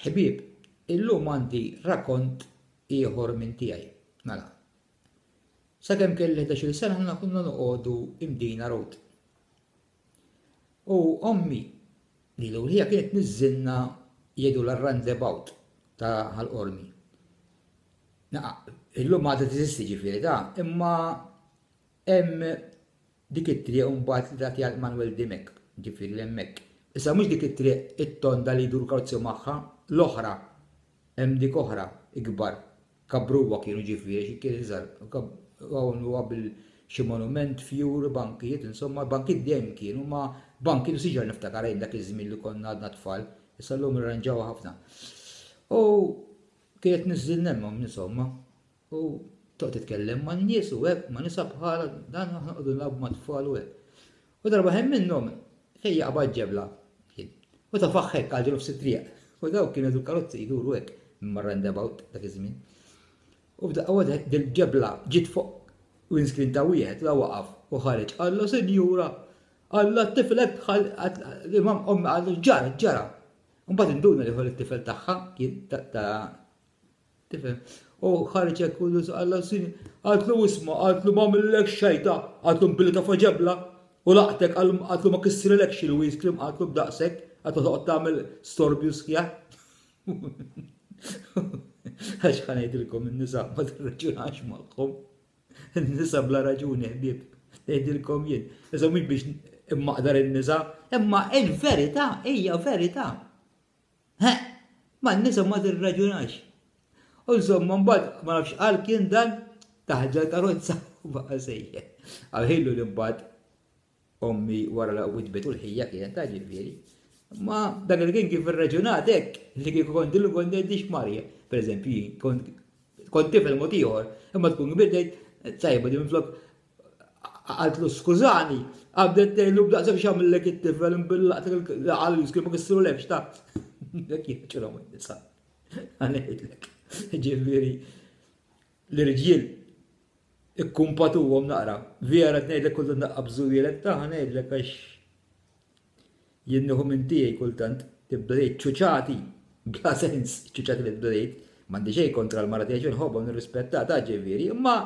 Ħbieb, illum għandi rakont ieħor minn tiegħi. Mela, sakemm kelli 11-il sena aħna konna noqogħdu Imdina Road. U ommi li l-ewwel kienet niżżilna jgħidu l-roundabout ta' Ħal Qormi. Illum għadha teżisti ġifieri ta' imma hemm Dik it-triq imbagħad li tagħti għal Manuel Dimech, ġifieri 'l hemmhekk. Issa mhux dik it-triq it-tonda li jduru karozzi magħha, l-oħra. Hemm dik oħra, ikbar. Kabbruha kienu ġifieri xi kien iżgħar. Hawn huwa bil xi monument, fjur, bankijiet, insomma, bankijiet dejjem kienu, ma bankijiet u siġar niftakar jien dak iż-żmien li konna għadna tfal. Issa llum irranġawha ħafna. U kienet niżżilna hemm insomma. U toqgħod titkellem man-nies u hekk, ma' nisa bħala dan aħna noqogħdu nilagħbu mat-tfal u hekk. U darba ħin minnhom ħej jaqbad ġebla kien. U tafaħ hekk għal nofs it-triq. U dawk kienu jgħidu karozzi jduru hekk minn roundabout dak iż-żmien. U f'daqqa waħda dil-ġebla ġiet fuq windscreen ta' wieħed la waqaf u ħareġ qallu sinjura Alla t-tifel hekk dħal imam ommi qallu ġara ġara. Mbagħad induna li ħol it-tifel tagħha kien ta' Tifhem? U ħareġ hekk u Alla sini. Qaltlu isma', qaltlu ma għamillek xejta, qaltlu billi tafa ġebla u laqtek, qaltlu ma kissrilekx il-windscreen, qaltlu b'daqshekk, qaltlu toqgħod tagħmel storbju sħiħ. Għax ħa ngħidilkom in-nisa ma tirraġunax magħhom. In-nisa bla raġuni ħbieb, ngħidilkom jien. Issa mhux biex immaqdar in-nisa, imma il-verità hija verità. He! Man-nisa ma tirraġunax. U insomma mbagħad ma nafx qal kien dan taħġa l-karozza u baqa' sejjer. Għalħilu li mbagħad ommi wara la witbet u l-ħija kienet ta' ġifieri. Ma dak li kien kif irraġunat hekk li kieku kont illu kont ngħidix Marja. Per eżempju, kont kont tifel mod ieħor, imma tkun kbir tgħid tajba di minflok Qaltlu skużani, qabdet tgħidlu b'daqshekk x'għamillek it-tifel imbillaqtek il-għal jiskri ma kissrulekx ta' Dak jieħġilhom in-nisa. Ngħidlek. Ġifieri l-irġiel ikkumpatuhom naqra. Vera ngħidlek kultant naqqa bżuwielek ta' ngħidlek għax Jien nieħu minn tiegħi kultant, tibda tgħid ċuċati, bla sens, ċuċati li tibda tgħid, m'għandi xejn kontra l-mara tiegħi inħobbha u nirrispettaha ta' ġifieri, imma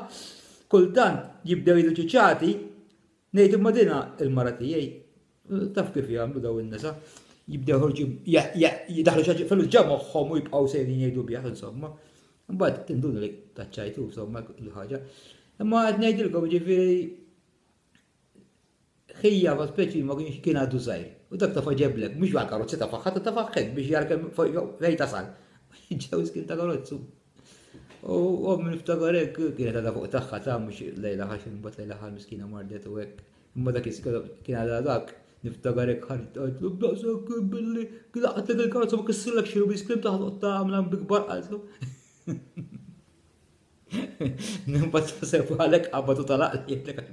kultant jibdew jgħidu ċuċati, ngħid imma dina il-mara tiegħi, taf kif jagħmlu daw in-nisa, jibdew ħorġu jidaħlu xi ħaġa ġa moħħhom u jibqgħu sejrin jgħidu bih insomma. Imbagħad tinduna li taċċajtu insomma l-ħaġa. Imma qed ngħidilkom ġifieri Ħija ma speċi ma kienx kien għadu żgħir. U dak tafa' ġeblek, mhux għal karozzi tafa' ħadd tafa' hekk biex jara kemm fejn tasal. Ġew kien ta' karozzu. U ommi niftakar hekk kienet għadha fuq tagħha ta' mhux lejla ħax imbagħad lejla ħal miskina mardet u hekk. Imma dak kien għadha dak niftakar hekk ħareġ qaltlu b'daqshekk billi laqatlek il-karozza ma kissirlek xi rubis klim taħt tagħmel bi kbar qaltlu. Mbagħad taħseb għalhekk qabad u talaq li jgħidlek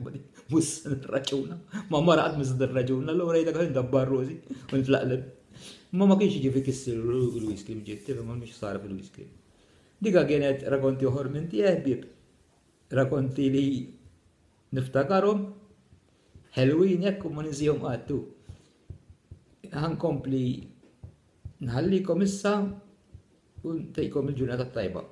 mhux se nirraġuna. Ma mara qatt mhux se nirraġuna, allura jgħidlek ħin dabbar rużi u nitlaqleb. Ma ma kienx jiġi kissir il-whisky ġiet, tifhem ma mhix sara fil-whisky. Dika kienet rakonti oħor minn tiegħi ħbieb. Rakonti li niftakarhom ħelwin hekk u ma ninsihom qatt. Ħankompli nħallikom issa u ntejkom il-ġurnata tajba.